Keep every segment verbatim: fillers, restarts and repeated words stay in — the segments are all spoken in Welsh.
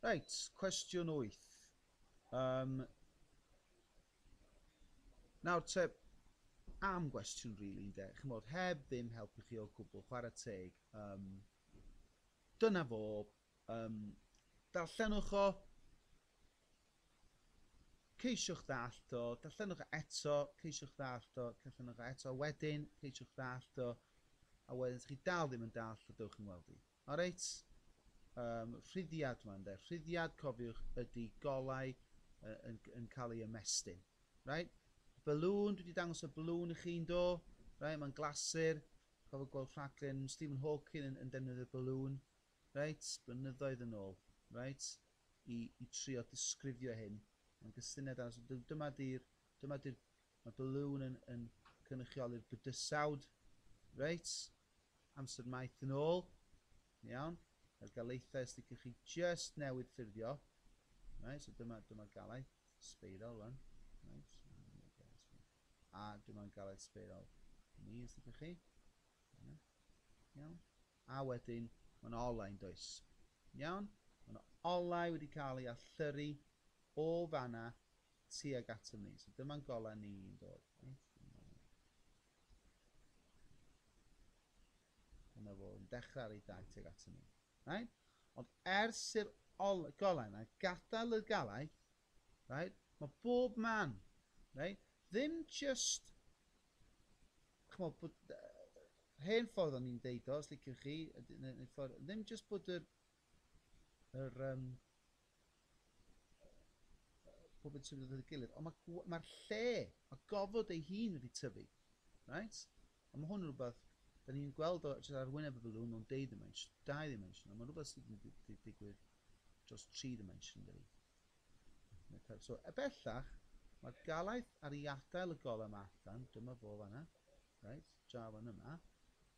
Reit, cwestiwn wyth. Um, nawr te, am gwestiwn rili, ynde, chimod, heb ddim helpu chi o gwbl, chwarae teg. Um, dyna fo, um, darllenwch o, ceisiwch ddallt o, darllenwch o eto, ceisiwch ddallt o, darllenwch o eto, wedyn ceisiwch ddallt o, a wedyn os chi dal ddim yn dallt o, dewch yn weld i. Alright? Um, rhuddiad yma, ynde. Rhuddiad, cofiwch, ydy golau uh, yn, yn cael ei ymestyn. Right? Balloon, dwi wedi dangos y balloon i chi'n do. Right? Mae'n glasur. Cofio gweld rhaglen Stephen Hawking yn, yn defnyddio balloon. Right? Blynyddoedd yn ôl. Right? I, i trio disgrifio hyn. Mae'n gysyniad arall. So, dyma di'r, dyma di'r, mae balloon yn, yn cynrychioli'r bydysawd. Right? Amser maith yn ôl. Iawn. Mae'r galaethau, os ydych chi just newydd ffurfio. Right, so dyma, dyma'r galaeth sbeiral rwan. Right, a dyma'r galaeth sbeiral ni, os ydych chi. Iawn. A wedyn, mae'n olau yn does. Iawn. Mae'n olau wedi cael ei allyrru o fanna tuag atom ni. So dyma'n golau ni'n dod. Right? Dyma fo yn dechrau ar ei daith tuag atom ni. Right? Ond ers i'r golau yna gadael y galaeth, right, mae bob man, right, ddim just, ch'mod, bod, hen ffordd o'n i'n deud o, os liciwch chi, neu, neu ffordd, ddim just bod yr, yr um, pob yn symud at ei gilydd, ond mae'r ma lle, mae gofod ei hun wedi tyfu, right? A mae hwn yn rhywbeth da ni'n gweld o jyst ar wyneb y balŵn mewn dau dimension, dau dimension, ond mae'n rhywbeth sydd wedi digwydd dros tri dimension, dydi. So, e bellach, mae'r galaeth ar ei adael y golau yma allan, dyma fo fanna, right, draw fan yma,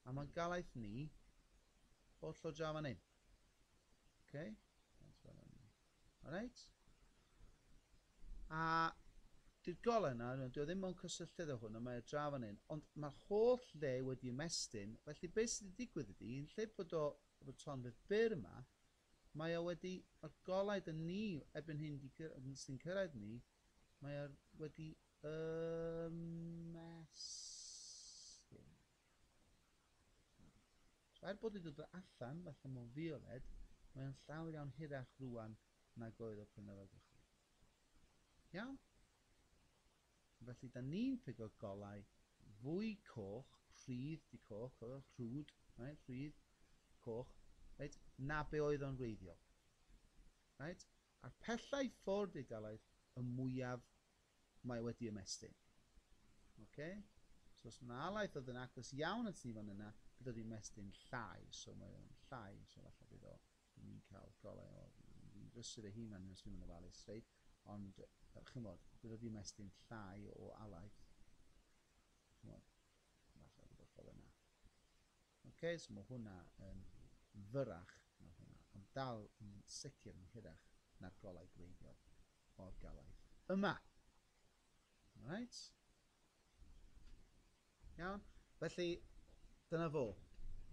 a mae'n galaeth ni holl o draw fan hyn. Okay? Alright? A di'r golau yna, dwi o ddim mewn cysylltiad â hwn, ond mae o draw fan hyn, ond mae'r holl le wedi ymestyn, felly beth sydd wedi digwydd ydy, yn lle bod o efo tonfedd byr yma, mae o wedi, mae'r golau dyn ni erbyn hyn di, sy'n cyrraedd ni, mae o wedi ymestyn. So er bod wedi dod allan, falle mewn fioled, mae o'n llawer iawn hirach rwan nag oedd o pan oedd o gychwyn. Iawn? Felly, da ni'n pigo golau fwy coch, rhydd di coch, rhwd, right, rhydd, coch, right, na be oedd o'n wreiddiol. Right? A'r pellau ffwrdd i'r galaeth, y mwyaf mae wedi ymestyn. Okay? So os mae alaeth oedd yn agos iawn at ni fan yna, bydd wedi ymestyn llai, so mae o'n llai, so falle bydd o, ni'n cael golau o, fi'n brysur ei hun fan hyn os dwi'n mynd ofalus, reit? Ond, chymod, bydd wedi ymestyn llai o alaeth. Chymod, falle rhywbeth fel yna. Ok, so mae hwnna yn fyrrach na hwnna, ond dal yn sicr yn hirach na'r golau gwreiddiol o'r galaeth yma. Alright? Iawn? Felly, dyna fo.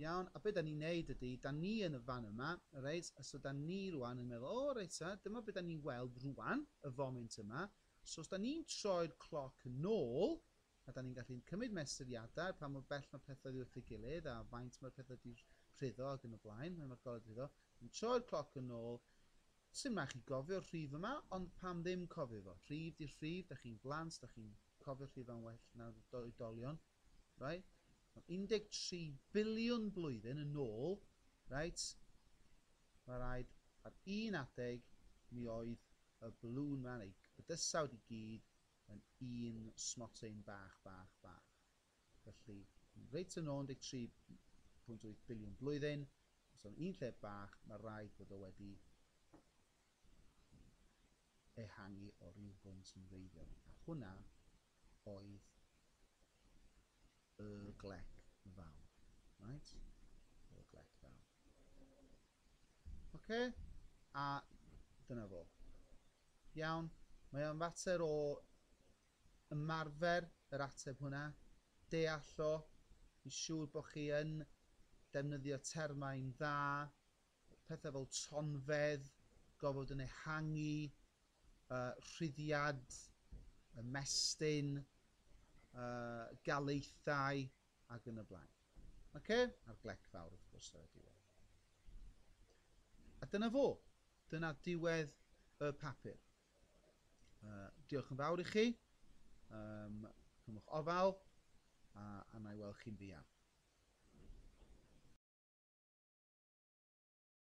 Iawn, a be da ni'n neud ydy, da ni yn y fan yma, reit, a so da ni rwan yn meddwl, o reit ta, dyma be da ni'n weld rwan, y foment yma. So os da ni'n troi'r cloc yn ôl, a da ni'n gallu cymryd mesuriadau, pa mor bell mae pethau wrth ei gilydd, a faint mae'r pethau wedi rhuddo ac yn y blaen, mae'r golau wedi rhuddo, ni'n troi'r cloc yn ôl, sy'n rhaid chi gofio'r rhif yma, ond pam ddim cofio fo? Rhif di'r rhif, da chi'n blant, da chi'n cofio'r rhif yn well na'r oedolion, right? un deg tri biliwn blwyddyn yn ôl, right, mae rhaid ar un adeg mi oedd y balŵn yma, neu bydysawd i gyd, yn un smotyn bach, bach, bach. Felly, reit yn ôl un deg tri pwynt wyth biliwn blwyddyn, so yn un lle bach, mae rhaid bod o wedi ehangu o ryw bwynt yn wreiddiol. A hwnna oedd y glec fawr. Right? Y glec fawr. Oce? A dyna fo. Iawn. Mae o'n fater o ymarfer yr ateb hwnna, deall o, i siŵr bod chi yn defnyddio termau'n dda, pethau fel tonfedd, gofod yn ehangu, uh, rhuddiad, ymestyn, uh, galaethau ac yn y blaen. Okay? A'r glec fawr, wrth gwrs, ar y diwedd. A dyna fo. Dyna diwedd y papur. Uh, diolch yn fawr i chi. Um, cymwch ofal a, a na i weld chi'n fuan.